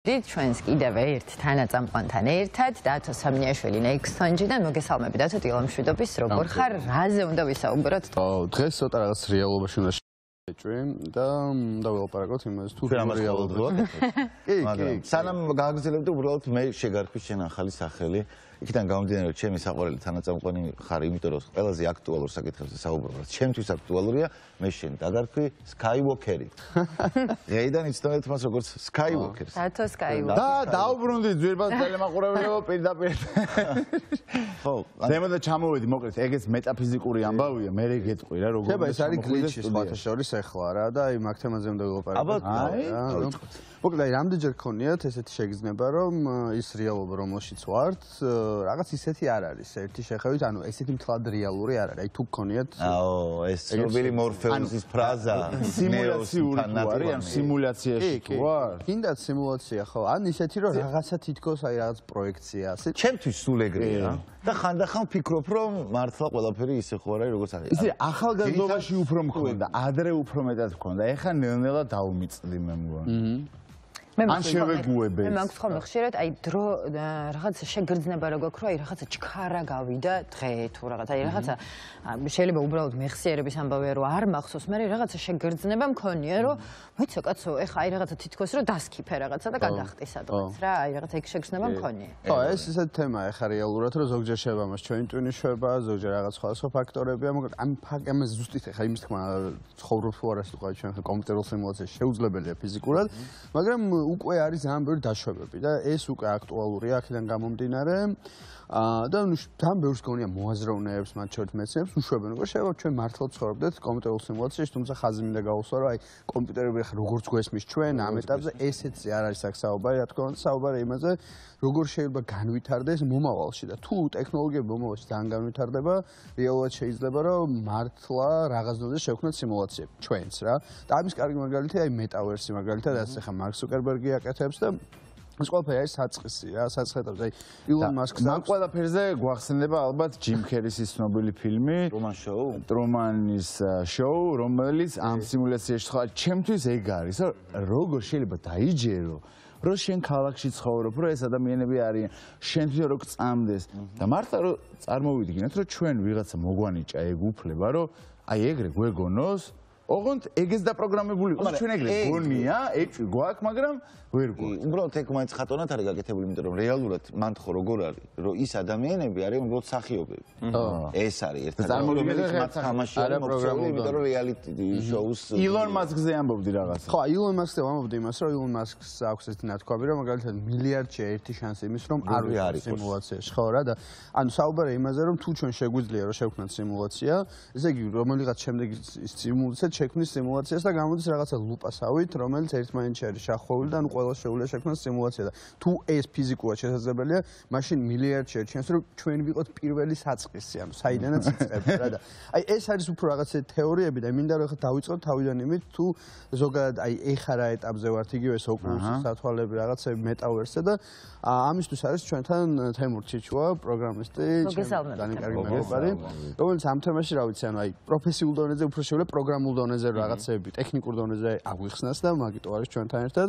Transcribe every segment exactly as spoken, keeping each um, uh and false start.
ჩვენს კიდევ ერთ თანაწამყვანთან ერთად დათო სამნიაშვილი ნექსონჯიდან მოგესალმები დათო დილამშვიდობის როგორ ხარ რაზე უნდა ვისაუბროთ დღეს ცოტა რაღაც რეალობაში უნდა შეჭვი და დაველაპარაკოთ იმაზე თუ რეალობრივად კი კი სანამ გააგრძელებდი უბრალოდ მე შეგარქვი შენ ახალი სახელი იქიდან გამომდინარე რომ ჩემი საყვარელი თანაწამყვანი ხარ იმიტომ რომ ყველაზე აქტუალურ საკითხებზე საუბრობ ჩემთვის აქტუალურია მე შენ დაგარქვი Skywalker-ი დღეიდან იცნობთ მას როგორც Skywalker-ს დათო Skywalker და დაუბრუნდი ძვირფას ტელემაყურებლებო პირდაპირ ხო ზემოდან ჩამოვედი მოკლედ ეგეც მეტაფიზიკური ამბავია მე რე გეტყვი რა როგორ ხება ეს არის გლიჩი სხვათა შორის ახლა რა და აი მაგ თემაზე უნდა ვილაპარაკოთ მოკლედ აი რამდენჯერ გქონიათ ესეთი შეგრძნება რომ ის რეალობა რომელშიც ვართ რაღაც ისეთი არ არის ერთი შეხევით ანუ ესეთი მთლად რეალური არ არის აი თუ გქონიათ აო ეს ცნობილი მორფეუსის ფრაზა სიმულაციური თუ არის ან სიმულაციაში თუ არ კიდაც სიმულაცია ხო ან ისეთი რომ რაღაცა თითქოს აი რაღაც პროექცია ასე ჩემთვის სულ ეგრეა და ხანდახან ვფიქრობ რომ მართლა ყველაფერი ისე ხო არის როგორც არის ისე ახალგაზრდობაში უფრო მქონდა ადრე უფრო მეტად მქონდა ეხლა ნელ-ნელა დაუმიწდი მე მგონი ან შევეგუებენ. მე მაქვს ხოლმე ხშირად აი დრო რაღაც შეგრძნება რო გვაქვს რომ აი რაღაცა ჩქარა გავიდა დღე თუ რაღაც აი რაღაცა შეიძლება უბრალოდ მეხსიერების ამბავია რომ არ მახსოვს მე რაღაცა შეგრძნება მქონია რომ მოიცა კაცო ეხა აი რაღაცა თითქოს რომ დასქიფე რაღაცა და გადახტი სადღაც რა აი რაღაცა იქ შეგრძნება მქონია. ხო ეს ისეთი თემა ეხა რეალურად რომ ზოგჯერ შევა მას ჩვენი ტვინი შევა ზოგჯერ რაღაც სხვადასხვა ფაქტორებია მოკლედ ამ ამაზე ზუსტით ეხა იმის თქმა ცხოვრობ თუ არა სიტყვა ჩვენ კომპიუტერულ სიმულაციაში შეუძლებელია ფიზიკურად მაგრამ უკვე არის ძალიან ბევრი დაშვებები და ეს უკვე აქტუალურია აქედან გამომდინარე და ნუ ძალიან ბევრს გონია მოაზროვნეებს მათ შორის მეცნიერებს უშვებენ რომ შეიძლება ჩვენ მართლა ცხოვრობდეთ კომპიუტერულ სიმულაციაში თუმცა ხაზი მინდა გავუსვა რომ აი კომპიუტერები ახლა როგორც გვესმის ჩვენ ამ ეტაპზე ესეცი არ არის აქ საუბარი რა თქმა უნდა საუბარი იმაზე როგორ შეიძლება განვითარდეს მომავალში და თუ ტექნოლოგიები მომავალში ძალიან განვითარდება რეალურად შეიძლება რომ მართლა რაღაც დონეზე შევქმნათ სიმულაციები ჩვენც რა და ამის კარგი მაგალითია აი მეტავერსი მაგალითად ასე ხა მარკ ზუკერბერგი აკეთებს და ეს ყველაფერი არის საწყისი რა საწყეთავს აი ილონ მასკს მაგ ყველაფერზე გვახსენდება ალბათ ჯიმ ქერის ის ცნობილი ფილმი ტრუმან შოუ ტრუმანის შოუ რომელიც ამ სიმულაციაში ხო ჩემთვის ეგ არის როგორ შეიძლება დაიჯერო რომ შენ ქალაქში ცხოვრობ რომ ეს ადამიანები არიან შენთვის რო გწამდეს და მართლა რომ წარმოვიდგინოთ რომ ჩვენ ვიღაცა მოგვანიჭა ეგ უფლება რომ აი ეგრე გვეგონოს ოღონდ ეგეც დაპროგრამებული იყოს ჩვენ ეგრე გონია ეჭვი გვაქვს მაგრამ ვერ გვაქვს უბრალოდ ეგ მაინც ხატონად არის გაკეთებული იმიტომ რომ რეალურად მან ხო როგორ არის რომ ის ადამიანები არიან უბრალოდ მსახიობები ეს არის ერთად რომელიც მათ თამაში არის პროგრამული იმიტომ რომ რეალიტი შოუს ილონ მასკზე ამბობდი რაღაცა ხო ილონ მასკზე ამბობდი იმას რომ ილონ მასკს აქვს ეს ნათქვამი რომ მაგალითად მილიარდში ერთი შანსი იმის რომ არ ვიყოს სიმულაციაში ხო რა და ანუ საუბარია იმაზე რომ თუ ჩვენ შეგვიძლია რომ შევქმნათ სიმულაცია ესე იგი რომელიღაც შემდეგი სიმულაცია შექმნის სიმულაციას და გამოდის რაღაცა ლუპასავით, რომელიც ერთმანეთში არის შახვეული და ანუ ყველა შეუძლია შექმნას სიმულაცია და თუ ეს ფიზიკურად შესაძლებელია, მაშინ მილიარდში ერჩენს რომ ჩვენ ვიყოთ პირველი საწყისი, ანუ საიდანაც იწყება რა და აი ეს არის უფრო რაღაცა თეორიები და მინდა რომ ხა დავიწყოთ თავიდან იმით თუ ზოგადად აი ეხა რა ეტაპზე ვართ იგივე ეს ოკულუსის სათვალები რაღაცები მეტავერსზე და ამისთვის არის ჩვენთან თემურ ჩიჩუა პროგრამისტი ძალიან კარგი მეგობარი რომელიც ამ თემაში რა ვიცი ანუ აი პროფესიულ დონეზე უფრო შეუძლია პროგრამულ დონეზე რაღაცები ტექნიკურ დონეზე აღვიხსნას და მაგიტო არის ჩვენთან ერთად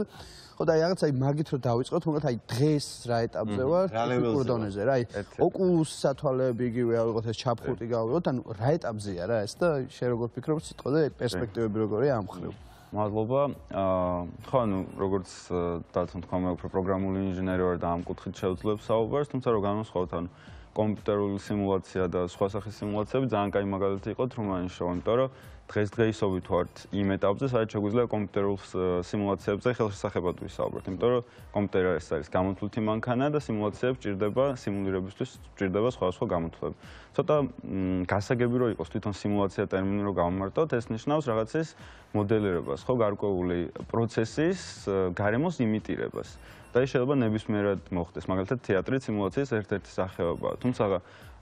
ხო და აი რაღაც აი მაგით რომ დავიწყოთ თუმცა აი დღეს რა ეტაპზე ვარ ტექნიკურ დონეზე რა აი ოკულუსის სათვალები იგივე ავიღოთ ეს ჩაფხუტი გავიღოთ ანუ რა ეტაპზეა რა ეს და შენ როგორ ფიქრობ სიტყვაზე პერსპექტივები როგორია ამ მხრივ მადლობა ხო ანუ როგორც დათომ თქვა მე უფრო პროგრამული ინჟინერი ვარ და ამ კუთხით შევძლებ საუბარს თუმცა რომ განვასხვავოთ ანუ კომპიუტერული სიმულაცია და სხვა სახის სიმულაციები ძალიან კაი მაგალითი იყო ტრუმანის შოუ იმიტომ რომ დღესდღეობით ვართ იმ ეტაპზე, სადაც შეგვიძლია კომპიუტერულ სიმულაციებზე ხელშესახებად ვისაუბროთ, იმიტომ რომ კომპიუტერი ეს არის გამოთვლითი მანქანა და სიმულაციებს ჭირდება, სიმულირებისთვის ჭირდება სხვადასხვა გამოთვლები. ცოტა გასაგები რო იყოს თვითონ სიმულაცია ტერმინი რო გავმარტოთ, ეს ნიშნავს რაღაცის მოდელირებას, ხო, გარკვეული პროცესის გარემოს იმიტირებას. და ის შეიძლება ნებისმიერად მოხდეს, მაგალითად თეატრი სიმულაციის ერთ-ერთი სახეობაა. თუმცა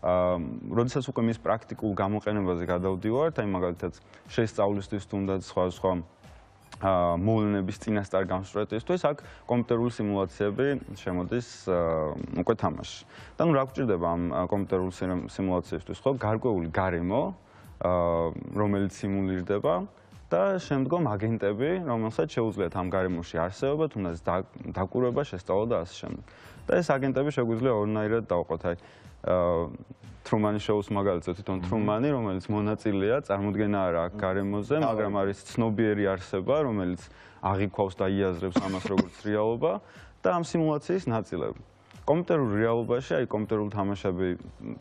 როდესაც უკვე მის პრაქტიკულ გამოყენებაზე გადავდივართ, აი მაგალითად შესწავლისთვის თუნდაც სხვა სხვა მოვლენების წინასწარ გამსწრეტისთვის, აქ კომპიუტერული სიმულაციები შემოდის უკვე თამაში. და ნუ რა გვჭირდება ამ კომპიუტერულ სიმულაციებისთვის, ხო, გარკვეული გარემო, რომელიც სიმულირდება და შემდგომ აგენტები, რომელსაც შეუძლიათ ამ გარემოში არსებობა, თუნდაც დაკვირვება, შესწავლა და ასე შემდეგ. და ეს აგენტები შეგვიძლია ორნაირად დავყოთ, აი Truman Show-ს მაგალითად თვითონ Truman-ი, რომელიც მონაწილეა, წარმოდგენა არა აქ გარემოზე, მაგრამ არის ცნობიერი არსება, რომელიც აღიქვავს და იაზრებს ამას როგორც რეალობა და ამ სიმულაციის ნაწილები. კომპიუტერულ რეალობაში, აი კომპიუტერულ თამაშები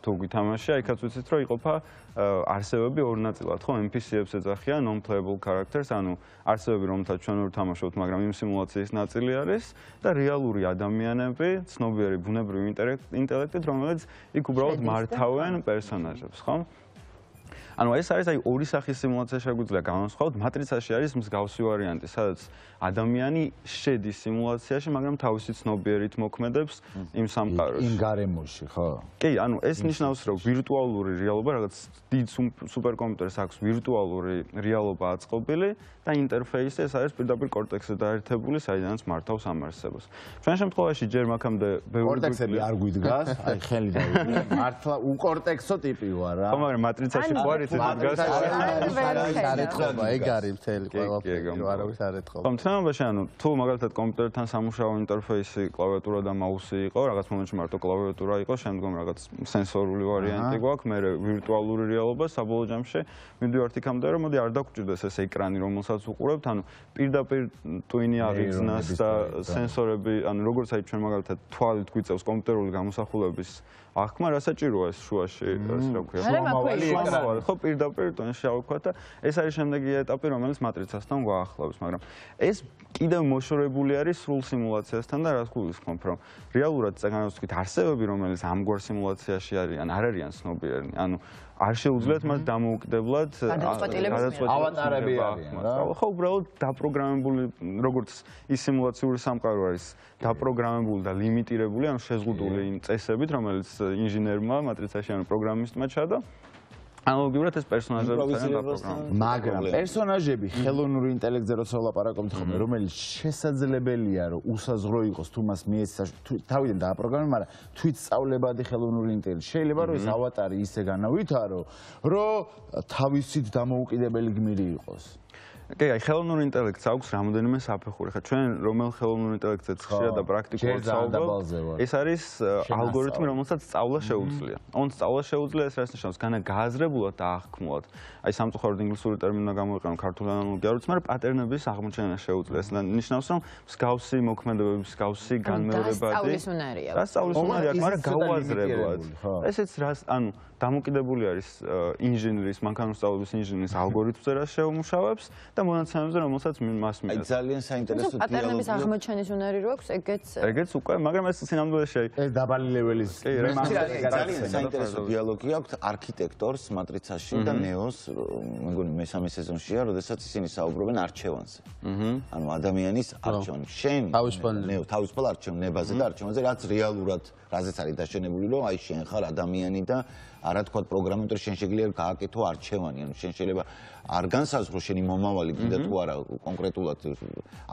თუ გითამაშია, იქაც ვიცით, რომ იყოფა არსებები ორ ნაწილად, ხო, N P C-ებს ეძახიან non-playable characters, ანუ არსებები, რომელთაც ჩვენ ვერ ვთამაშობთ, მაგრამ იმ სიმულაციის ნაწილი არის და რეალური ადამიანები, ცნობიერი ბუნებრივი ინტელექტით, რომელიც იქ უბრალოდ მართავენ პერსონაჟებს, ხო? ანუ ეს არის აი ორი სახის სიმულაცია შეგვიძლია განვასხვაოთ. მატრიცაში არის მსგავსი ვარიანტი, სადაც ადამიანი შედის სიმულაციაში, მაგრამ თავისი ცნობიერით მოქმედებს იმ სამყაროში. იმ გარემოში, ხო? კი, ანუ ეს ნიშნავს, რომ ვირტუალური რეალობა, რაღაც დიდ სუპერკომპიუტერს აქვს ვირტუალური რეალობა აწყობილი და ინტერფეისი ეს არის პირდაპირ კორტექსზე დაერთებული, საიდანაც მართავს ამ არსებას. ჩვენ შემთხვევაში ჯერ მაქამდე ბევრი კორტექსები არ გვიდგას, აი ხელი დავიგე. მართლა უკორტექსო ტიპი ვარ რა. ხო, მაგრამ მატრიცაში ხო არის ეს დგას. არეთყობა, ეგ არის მთელი ყველაფერი, არავის არ ეთყობა. თამაში ანუ თუ მაგალითად კომპიუტერთან სამუშაო ინტერფეისი კლავიატურა და მაუსი იყო, რაღაც მომენტში მარტო კლავიატურა იყო, შემდგომ რაღაც სენსორული ვარიანტი გვაქვს, მე ვირტუალური რეალობა საბოლოო ჯამში მივდივართ იქამდე, რომ მოდი არ დაგჭირდეს ეს ეკრანი, რომელსაც უყურებთ, ანუ პირდაპირ ტვინი აღიძნას და სენსორები, ანუ როგორც აი ჩვენ მაგალითად თვალით გვიწევს კომპიუტერული გამოსახულების ახმა, რა საჭიროა ეს შუაში, ეს რა ქვია, შუამავალი ეკრანი, ხო, პირდაპირ ტვინში ავქვათ და ეს არის შემდეგი ეტაპი, რომელიც მატრიცასთან გვაახლავს, მაგრამ ეს კიდევ მოშორებული არის სრულ სიმულაციასთან და რაც გულისხმობ, რომ რეალურად წეგანოსკით არსებები, რომელიც ამგვარ სიმულაციაში არიან, არ არიან ცნობიერნი, ანუ არ შეუძლიათ მას დამოუკიდებლად ავატარები არიან რა. ხო, უბრალოდ დაპროგრამებული, როგორც ის სიმულაციური სამყარო არის დაპროგრამებული და ლიმიტირებული, ანუ შეზღუდული იმ წესებით, რომელიც ინჟინერმა მატრიცაში ანუ პროგრამისტმა ჩადა. ანალოგიურად ეს პერსონაჟები დაპროგრამებული. მაგრამ პერსონაჟები ხელოვნური ინტელექტზე როცა ვლაპარაკობთ ხოლმე, რომელიც შესაძლებელია რომ უსაზღრო იყოს თუ მას მიეცა თავიდან დააპროგრამე, მაგრამ თვით სწავლებადი ხელოვნური ინტელექტი. შეიძლება რომ ეს ავატარი ისე განავითარო, რომ თავისით დამოუკიდებელი გმირი იყოს. კი, აი ხელოვნური ინტელექტს აქვს რამოდენიმე საფეხური. ხა ჩვენ რომელ ხელოვნურ ინტელექტზე ხშირად და პრაქტიკულად საუბრობთ, ეს არის ალგორითმი, რომელსაც სწავლა შეუძლია. On სწავლა შეუძლია, ეს რაც ნიშნავს, განა გააზრებულად და აღქმულად. აი სამწუხაროდ ინგლისური ტერმინი გამოვიყენო ქართული ანალოგია, როცა მაგრამ პატერნების აღმოჩენა შეუძლია. ეს ნიშნავს, რომ მსგავსი მოქმედებები, მსგავსი განმეორებადი დასწავლის უნარია. დასწავლის უნარი აქვს, მაგრამ გაუაზრებლად. ესეც რას, ანუ დამოკიდებული არის ინჟინრის, მანქანური სწავლების ინჟინრის ალგორითმზე, რაც შეუმუშავებს და მონაცემებზე, რომელსაც მას მიაქვს. აი ძალიან საინტერესო დიალოგი. პატერნების აღმოჩენის უნარი რო აქვს, ეგეც ეგეც უკვე, მაგრამ ეს სინამდვილეში ეს დაბალი ლეველის ძალიან საინტერესო დიალოგი აქვს არქიტექტორს მატრიცაში და ნეოს, მეგონი მესამე სეზონშია, როდესაც ისინი საუბრობენ არჩევანზე. ანუ ადამიანის არჩევანი. შენ ნეო თავისუფალ არჩევნებაზე და არჩევანზე, რაც რეალურად რაზეც არის დაშენებული, რომ აი შენ ხარ ადამიანი და არა თქვა პროგრამატორი შენ შეგიძლია გააკეთო არჩევანი, ანუ შენ შეიძლება არ განსაზღვრო შენი მომავალი კიდე თუ არა კონკრეტულად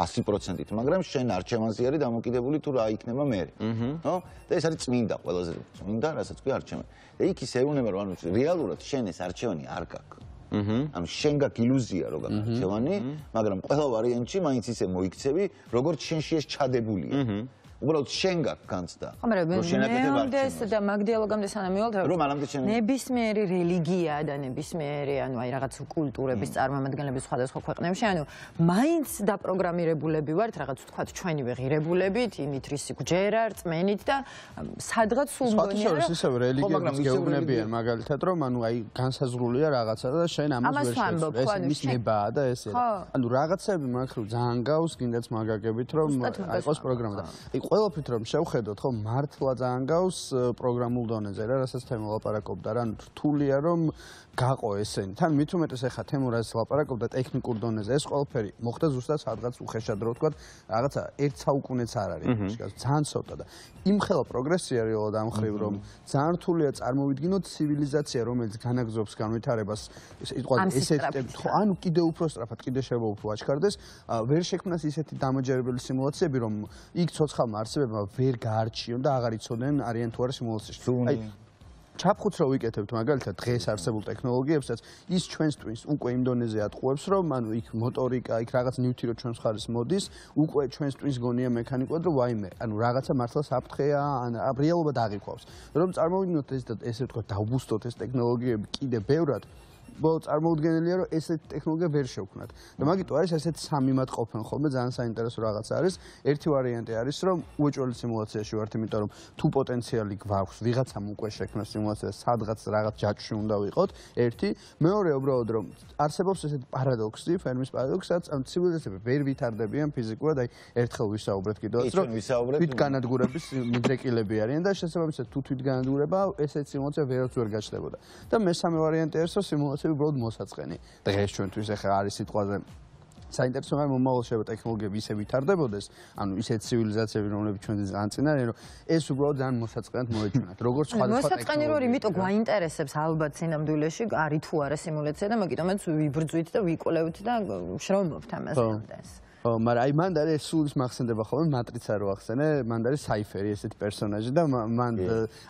ასი პროცენტით, მაგრამ შენ არჩევანზე არის დამოკიდებული თუ რა იქნება მე. ხო? და ეს არის წმინდა, ყველაზე წმინდა, რასაც ქვია არჩევანი. და იქ ისე ეუბნება, რომ ანუ რეალურად შენ ეს არჩევანი არ გაქვს. ანუ შენ გაქვს ილუზია, რომ გაქვს არჩევანი, მაგრამ ყველა ვარიანტში მაინც ისე მოიქცევი, როგორც შენში ეს ჩადებულია. უბრალოდ შენ გაქვს განცდა. ხო, მაგრამ მეომდეს და მაგ დიალოგამდე სანამ მივალთ, რომ მანამდე შენ ნებისმიერი რელიგია და ნებისმიერი, ანუ აი რაღაც კულტურების წარმომადგენლები სხვადასხვა ქვეყნებში, ანუ მაინც დაპროგრამირებულები ვართ, რაღაც ვთქვათ, ჩვენივე ღირებულებით, იმით რის გვჯერა, რწმენით და სადღაც სულ მგონია, რომ სხვადასხვა ისევ რელიგიებს გეუბნებიან მაგალითად, რომ ანუ აი განსაზღვრულია რაღაცა და შენ ამას ვერ შეცდom. ეს ის ნება და ესე. ანუ რაღაცები მაგხრივ ძალიან გავს, კიდეც მაგაგებით, რომ აიყოს პროგრამა და ყველაფრით რომ შევხედოთ, ხო, მართლა ძალიან გავს პროგრამულ დონეზე რა, რასაც თემო ლაპარაკობდა, რა, რთულია რომ გაყო ესენი. თან მით უმეტეს ახლა თემო რასაც ლაპარაკობდა ტექნიკურ დონეზე, ეს ყველაფერი მოხდა ზუსტად სადღაც უხეშად რო ვთქვათ, რაღაცა ერთ საუკუნეც არ არის, ძალიან ცოტა და იმხელა პროგრესია რეალურად ამ ხრივ რომ ძალიან რთულია წარმოვიდგინოთ ცივილიზაცია, რომელიც განაგზობს განვითარებას, იტყვა ესეთ, ხო, ანუ კიდე უფრო სწრაფად, კიდე შეიძლება უფრო აჩქარდეს, ვერ შექმნას ისეთი დამაჯერებელი სიმულაციები, რომ იქ ცოცხალმა არსებებმა ვერ გაარჩიონ და აღარ იცოდნენ არიან თუ არა სიმულაციაში. აი ჩაფხუც რო ვიკეთებთ მაგალითად დღეს არსებულ ტექნოლოგიებსაც ის ჩვენს ტვინს უკვე იმ დონეზე ატყუებს რომ ანუ იქ მოტორიკა იქ რაღაც ნივთი რო ჩვენს მხარეს მოდის უკვე ჩვენს ტვინს გონია მექანიკურად რომ ვაიმე ანუ რაღაცა მართლა საფრთხეა ან რეალობა დაღიქვავს რომ წარმოვიდგინოთ ეს და ესე ვთქვათ დავბუსტოთ ეს ტექნოლოგიები კიდე ბევრად ბოლო წარმოუდგენელია რომ ესეთი ტექნოლოგია ვერ შევქმნათ და მაგიტო არის ესეთი სამი მათ ყოფენ ხოლმე ძალიან საინტერესო რაღაც არის ერთი ვარიანტი არის რომ უეჭველი სიმულაციაში ვართ იმიტომ რომ თუ პოტენციალი გვაქვს ვიღაცამ უკვე შექმნა სიმულაცია სადღაც რაღაც ჯაჭვში უნდა ვიყოთ ერთი მეორე უბრალოდ რომ არსებობს ესეთი პარადოქსი ფერმის პარადოქსიც ან ცივილიზაციები ვერ ვითარდებიან ფიზიკურად აი ერთხელ ვისაუბრეთ კიდევაც რომ თვითგანადგურების მიდრეკილები არიან და შესაბამისად თუ თვითგანადგურება ესეთი სიმულაცია ვერც ვერ გაჩნდებოდა და მესამე ვარიანტი არის რომ სიმულაცია უბრალოდ მოსაწყენი. დღეს ჩვენთვის ახლა არის სიტყვაზე საინტერესო მაგრამ მომავალ შევა ტექნოლოგიები ისე ვითარდებოდეს, ანუ ისეთ ცივილიზაციები, რომლებიც ჩვენთვის ძალიან წინ არიან, რომ ეს უბრალოდ ძალიან მოსაწყენად მოეჩვენათ. როგორც სხვადასხვა მოსაწყენი რო იმიტომ გვაინტერესებს ალბათ სინამდვილეში არის თუ არა სიმულაცია და მაგიტომაც ვიბრძვით და ვიკვლევთ და შრომობთ ამაზე ამდენს. ო, მაგრამ აი მანდ არის სულის მახსენდება ხოლმე მატრიცა რო ახსენე, მანდ არის საიფერი ესეთი პერსონაჟი და მანდ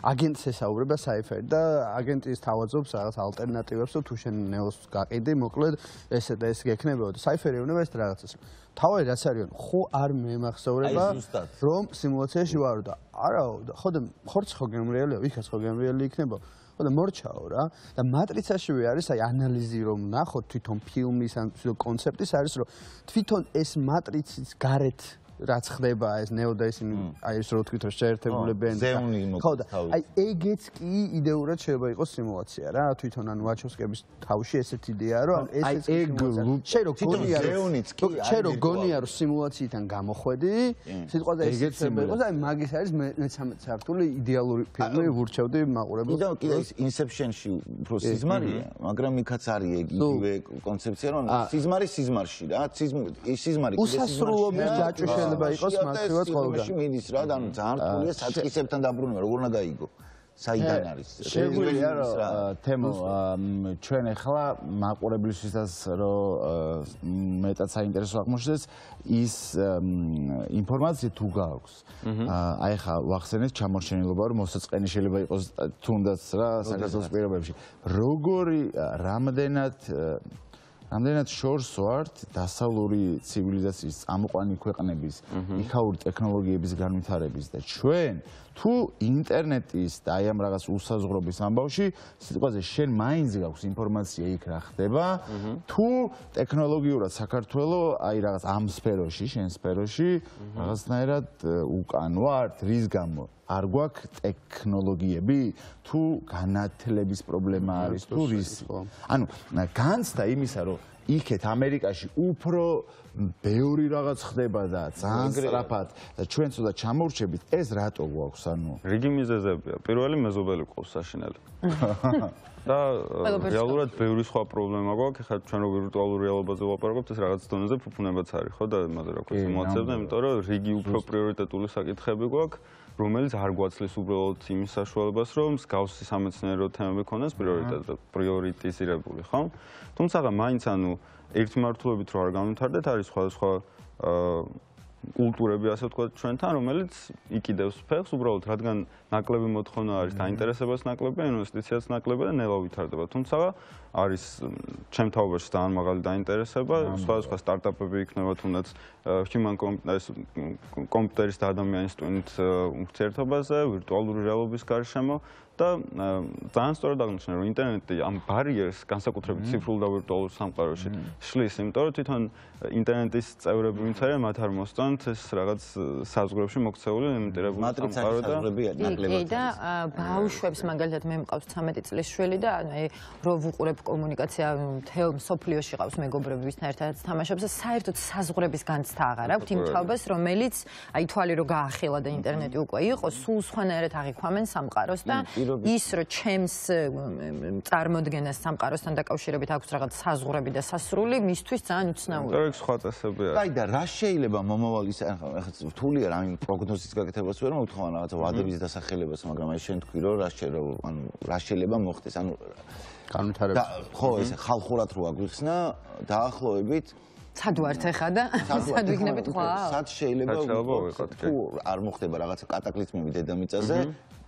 აგენტს ესაუბრება საიფერი და აგენტის თავაზობს რაღაც ალტერნატივებს თუ შენ ნეოს გაყიდი, მოკლედ ესე და ეს გექნებოდა. საიფერი ეუბნება ეს რაღაცას. თავი რაც არის, ხო არ მემახსოვრება რომ სიმულაციაში ვარ და არაო, ხო და ხორც ხო გემრიელია, ვიქაც ხო გემრიელი იქნება. და მორჩაო რა და მატრიცაშივე არის აი ანალიზი რომ ნახოთ თვითონ ფილმის ან კონცეფტის არის რომ თვითონ ეს მატრიცის გარეთ რაც ხდება ეს ნეო და ისინი აი ეს რო თქვით რომ შეერთებულებიან ხო და აი ეგეც კი იდეურად შეიძლება იყოს სიმულაცია რა თვითონ ან ვაჩოვსკების თავში ესეთი იდეაა რომ ეს ეგ შენ რო გონია რომ შენ რო გონია რომ სიმულაციიდან გამოხვედი სიტყვაზე ესეც შეიძლება იყოს აი მაგის არის მესამე სართული იდეალური ფილმი ვურჩევდი მაყურებელს კიდევ კიდევ ის ინსეფშენში უფრო სიზმარია მაგრამ იქაც არის ეგ იგივე კონცეფცია რომ სიზმარი სიზმარში რა სიზმარი კიდე უსასრულობის ჯაჭვი იყოს მასივად ყველგან. მიდის რა და ანუ ძალიან რთულია საწყისებთან დაბრუნება, როგორ უნდა გაიგო. საიდან არის? შეგვიძლია რომ თემო ჩვენ ახლა მაყურებლისთვისაც რომ მეტად საინტერესო აღმოჩნდეს ის ინფორმაცია თუ გააქვს. აი ახლა ვახსენეთ ჩამორჩენილობა რომ მოსაწყენი შეიძლება იყოს თუნდაც რა საქართველოს პირობებში. როგორი რამდენად რამდენად შორს ვართ დასავლური ცივილიზაციის წამყვანი ქვეყნების იქაური ტექნოლოგიების განვითარების და ჩვენ თუ ინტერნეტის და აი ამ რაღაც უსაზღვრობის ამბავში სიტყვაზე შენ მაინც გაქვს ინფორმაცია იქ რა ხდება თუ ტექნოლოგიურად საქართველოს აი რაღაც ამ სფეროში შენ სფეროში რაღაცნაირად უკან ვართ რის გამო არ გვაქვს ტექნოლოგიები თუ განათლების პრობლემა არის თუ რის ანუ განცდა იმისა რომ იქეთ ამერიკაში უფრო ბევრი რაღაც ხდება და ძალიან სწრაფად და ჩვენ ცოტა ჩამორჩებით ეს რატო გვაქვს ანუ რიგი მიზეზებია პირველი მეზობელი ყავს საშინელი და რეალურად ბევრი სხვა პრობლემა გვაქვს ხა ჩვენ რო ვირტუალურ რეალობაზე ვაპარაკობთ ეს რაღაც დონეზე ფუფუნებაც არის ხო და მაგას რა ქვია სიმულაციებზე იმიტომ რომ რიგი უფრო პრიორიტეტული საკითხები გვაქვს რომელიც არ გვაცლის უბრალოდ იმის საშუალებას რომ მსგავსი სამეცნიერო თემები ქონდეს პრიორიტეტად პრიორიტიზირებული ხო თუმცა მაინც ანუ ერთმართულობით რო არ განვითარდეთ არის სხვადასხვა კულტურები ასე ვთქვათ ჩვენთან რომელიც იკიდებს ფეხს უბრალოდ რადგან ნაკლები მოთხოვნა არის დაინტერესებას ნაკლებია ინვესტიციაც ნაკლებია და ნელა ვითარდება თუმცა არის ჩემ თაობაში ძალიან მაღალი დაინტერესება სხვადასხვა სტარტაპები იქნება თუნდაც human კომპიუტერის და ადამიანის ტვინით ურთიერთობაზე ვირტუალური რეალობის გარშემო და ძალიან სწორად აღნიშნა რომ ინტერნეტი ამ ბარიერს განსაკუთრებით ციფრულ და ვირტუალურ სამყაროში შლის იმიტომ რომ თვითონ ინტერნეტის წევრები ვინც არიან მათ არ მოსწონთ ეს რაღაც საზღვრებში მოქცეული იმიტირებული სამყარო და ნაკლებად და ბავშვებს მაგალითად მე მყავს ცამეტი წლის შვილი და აი რო ვუყურებ კომუნიკაცია მთელ მსოფლიოში ყავს მეგობრები ვისთან ერთად თამაშობს და საერთოდ საზღვრების განცდა აღარ აქვს იმ თაობას რომელიც აი თვალი რო გაახილა და ინტერნეტი უკვე იყო სულ სხვანაირად აღიქვამენ სამყაროს და ის რომ ჩემს წარმოდგენას სამყაროსთან დაკავშირებით აქვს რაღაც საზღვრები და სასრული მისთვის ძალიან უცნაურია ეგ სხვა წესები არის აი და რა შეიძლება მომავალის ახლა რთულია რა იმ პროგნოზის გაკეთებას ვერ მოვთხოვ რაღაცა ვადების დასახელებას მაგრამ აი შენ თქვი რომ რა შეიძლება ანუ რა შეიძლება მოხდეს ანუ განვითარება ხო ეს ხალხურად რო აგვიხსნა დაახლოებით სად ვართ ახლა და სად ვიქნებით ხვალ? სად შეიძლება თუ არ მოხდება რაღაცა კატაკლიზმები დედამიწაზე,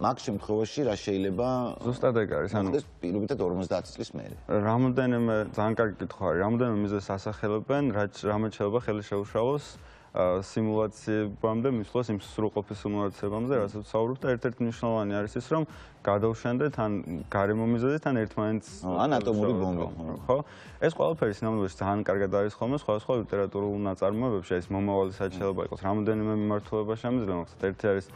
მაგ შემთხვევაში რა შეიძლება ზუსტად ეგ არის, ანუ პირობითად ორმოცდაათი წლის მერე. რამოდენიმე ძალიან კარგი კითხვა არის, რამოდენიმე მიზეზს ასახელებენ, რამე შეიძლება ხელი შეუშალოს სიმულაციებამდე მისვლას იმ სრულყოფის სიმულაციებამდე, რასაც ვსაუბრობ და ერთ-ერთი მნიშვნელოვანი არის ის, რომ გადავშენდეთ ან გარემო მიზეზით ან ერთმანეთს ან ატომური ბომბა, ხო? ეს ყველაფერი სინამდვილეში ძალიან კარგად არის ხოლმე სხვადასხვა ლიტერატურულ ნაწარმოებებში, ეს მომავალი საერთოდ შეიძლება იყოს რამოდენიმე მიმართულება შემიძლია, მაგალითად ერთი არის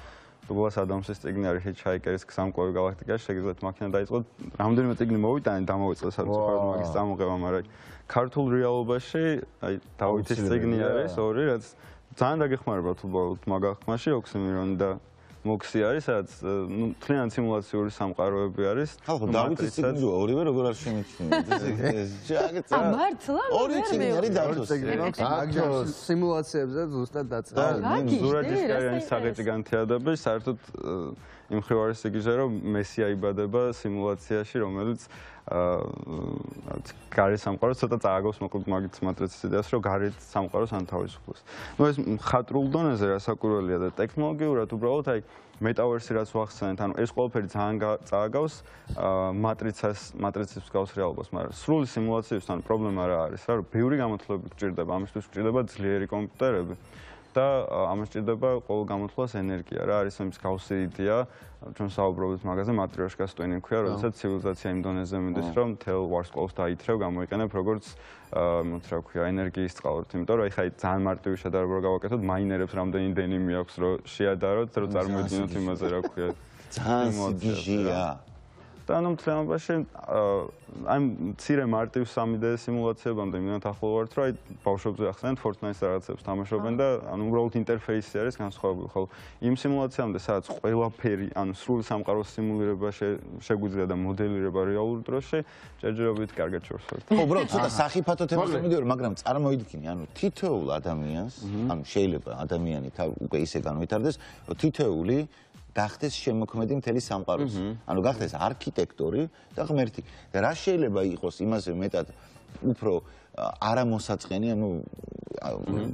დუგლას ადამსის წიგნი არის ჰიჩჰაიკერის გზამკვლევი გალაქტიკაში, შეგიძლიათ მაქინა დაიწყოთ, რამოდენიმე წიგნი მოვიტანეთ, დამოვიწყოთ საერთოდ მაგის წამოღება, მაგრამ ქართულ რეალობაში, აი დავითის წიგნი არის ორი, რაც ძალიან დაგეხმარებათ უბრალოდ მაგ აღქმაში, ოქსიმირონი და მოქსი არის, სადაც ნუ თლიანი სიმულაციური სამყაროები არის. ხო, დავითის წიგნი ორივე როგორ არ შემიჩნია. ეს ჯაგეც. ა მართლა? ორი წიგნი არის დავითის წიგნი. მაგ სიმულაციებზე ზუსტად დაწერა. ზურაჯიშკარიანის საღეჭი განთიადები საერთოდ იმ მხრივ არის იგივე, რომ მესი აიბადება სიმულაციაში, რომელიც აა გარე სამყაროს ცოტა წააგავს მოკლედ მაგით მატრიცის იდეას, რომ გარე სამყაროს ანთავისუფლებს. ნუ ეს მხატვრულ დონეზე რასაკვირველია და ტექნოლოგიურად უბრალოდ აი მეტავერსი რაც ვახსენეთ, ანუ ეს ყველაფერი ძალიან წააგავს მატრიცას, მატრიცის მსგავს რეალობას, მაგრამ სრული სიმულაციებთან პრობლემა რა არის, რა რომ ბევრი გამოთვლები გჭირდება, ამისთვის გჭირდება ძლიერი კომპიუტერები. და ამას ჭირდება ყოველ გამოთვლას ენერგია რა არის ამის გავსი იდეა ჩვენ საუბრობთ მაგაზე მატრიოშკას ტვენი ქვია როდესაც ცივილიზაცია იმ დონეზე მიდის რომ თელ ვარსკვლავს დაითრევ გამოიყენებ როგორც მოც რა ქვია ენერგიის წყაროთი იმიტომ რომ ეხა ძალიან მარტივი შედარება რო გავაკეთოთ მაინერებს რამდენი დენიმი აქვს რომ შეადაროთ რომ წარმოედგინოთ იმაზე რა ქვია ძალიან სიგიჟია და ანუ მთლიანობაში აი მცირე მარტივ სამი დე სიმულაციებამდე მინდა ახლო ვართ რომ აი ბავშვებზე ახსენეთ Fortnite-ს რაღაცებს თამაშობენ და ანუ უბრალოდ ინტერფეისი არის განსხვავებული ხოლო იმ სიმულაციამდე სადაც ყველაფერი ანუ სრული სამყაროს სიმულირება შეგვიძლია და მოდელირება რეალურ დროში ჯერჯერობით კარგად შორს ვართ. ხო უბრალოდ ცოტა სახიფათო თემას მივიდოდი მაგრამ წარმოიდგინე ანუ თითოეულ ადამიანს ანუ შეიძლება ადამიანი უკვე ისე განვითარდეს რომ თითოეული გახდეს შემოქმედი მთელი სამყაროს. ანუ გახდეს არქიტექტორი და ღმერთი. და რა შეიძლება იყოს იმაზე მეტად უფრო არამოსაწყენი, ანუ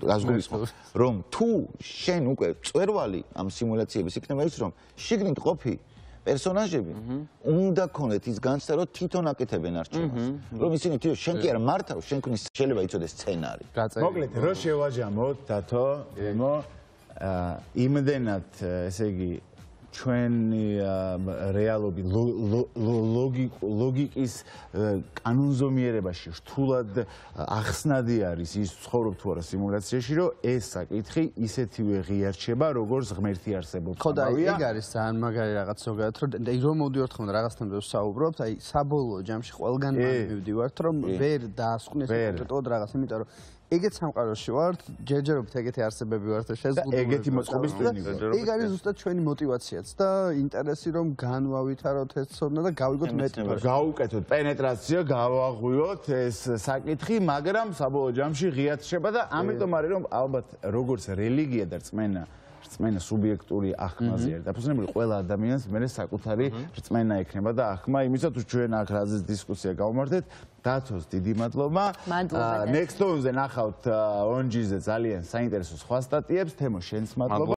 რას გულისხმობ, რომ თუ შენ უკვე წვერვალი ამ სიმულაციების იქნება ის, რომ შიგნით ყოფი პერსონაჟები უნდა ქონდეთ ის განცდა, რომ თვითონ აკეთებენ არჩევანს. რომ ისინი თვითონ შენ კი არ მართავ, შენ ქნის შეიძლება იცოდეს სცენარი. მოკლედ, რო შევაჯამოთ დათო, ემო იმდენად, ესე იგი ჩვენი რეალობი ლოგიკის კანონზომიერებაში რთულად ახსნადი არის ის ცხოვრობ თუ არა სიმულაციაში რომ ეს საკითხი ისეთივე ღიარჩება როგორც ღმერთი არსებობს. ხო და ეგ არის ძალიან მაგარი რაღაც ზოგადად რომ რომ მოვდივართ ხოლმე რაღაცთან ვსაუბრობთ აი საბოლოო ჯამში ყველგან მივდივართ რომ ვერ დაასკვნეს კონკრეტულად რაღაც იმიტომ რომ ეგეთ სამყაროში ვართ, ჯერჯერობით ეგეთი არსებები ვართ და შეზღუდული. ეგეთი მოწყობის ტვინი ვართ. ეგ არის ზუსტად ჩვენი мотиваციაც და ინტერესი რომ განვავითაროთ ეს ცოდნა და გავიგოთ მეტი. გავუკეთოთ პენეტრაცია, გავაღვიოთ ეს საკითხი, მაგრამ საბოლოო ჯამში ღიად შეება და ამიტომ არის რომ ალბათ როგორც რელიგია და რწმენა რწმენა სუბიექტური აღქმაზე არის დაფუძნებული ყველა ადამიანს მე საკუთარი რწმენა ექნება და აღქმა იმისათვის ჩვენ აქ რაზეც დისკუსია გავმართეთ დათოს დიდი მადლობა მადლობა Nextstone-ზე ნახავთ ონჯიზე ძალიან საინტერესო სხვა სტატიებს თემო შენს მადლობა